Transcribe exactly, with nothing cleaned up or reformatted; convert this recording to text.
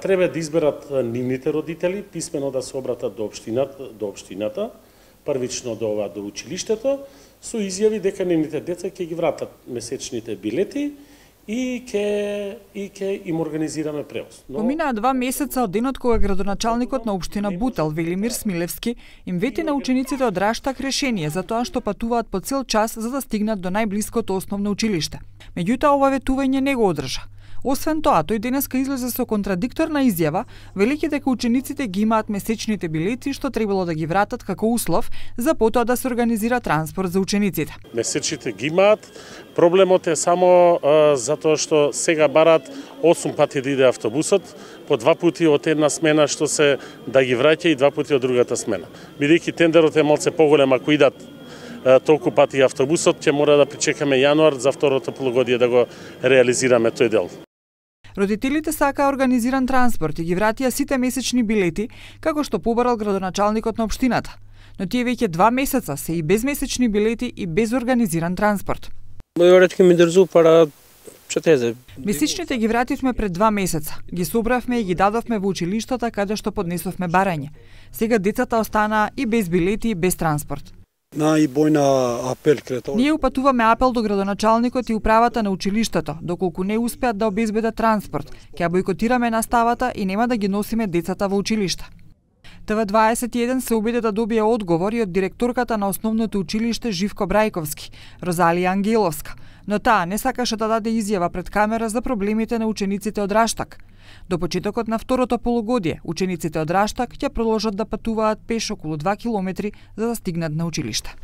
Треба да изберат нивните родители, писмено да се обратат до општината, до општината, првично до ова до училиштето, со изјави дека нивните деца ќе ги вратат месечните билети и ќе и ќе им организираме превоз. Но... Поминаа два месеца од денот кога градоначалникот на општина Бутел Велимир Смилевски им вети на учениците од Раштак решение за тоа што патуваат по цел час за да стигнат до најблиското основно училиште. Меѓутоа ова ветување не го одржа. Освен тоа, тој денеска излезе со контрадикторна изјава, велики дека учениците ги имаат месечните билети што требало да ги вратат како услов за потоа да се организира транспорт за учениците. Месечните ги имаат, проблемот е само а, затоа што сега барат осум пати да иде автобусот, по два пати од една смена што се да ги враќа и два пати од другата смена. Бидејќи тендерот е малце поголем, ако идат толку пати автобусот, ќе мора да причекаме јануар за второто полугодие да го реализираме тој дел. Родителите сакаа организиран транспорт и ги вратија сите месечни билети, како што побарал градоначалникот на општината. Но тие веќе два месеца се и без месечни билети и без организиран транспорт. Месечните ги вративме пред два месеца. Ги собравме и ги дадовме во училиштата каде што поднесовме барање. Сега децата останаа и без билети и без транспорт. Ние упатуваме апел до градоначалникот и управата на училиштето, доколку не успеат да обезбедат транспорт, ќе бойкотираме наставата и нема да ги носиме децата во училиште. Т В дваесет и еден се обиде да добие одговори од директорката на основното училиште Живко Брајковски, Розалија Ангеловска, но таа не сакаше да даде изјава пред камера за проблемите на учениците од Раштак. До почетокот на второто полугодие, учениците од Раштак ќе продолжат да патуваат пеш околу два километри за да стигнат на училиште.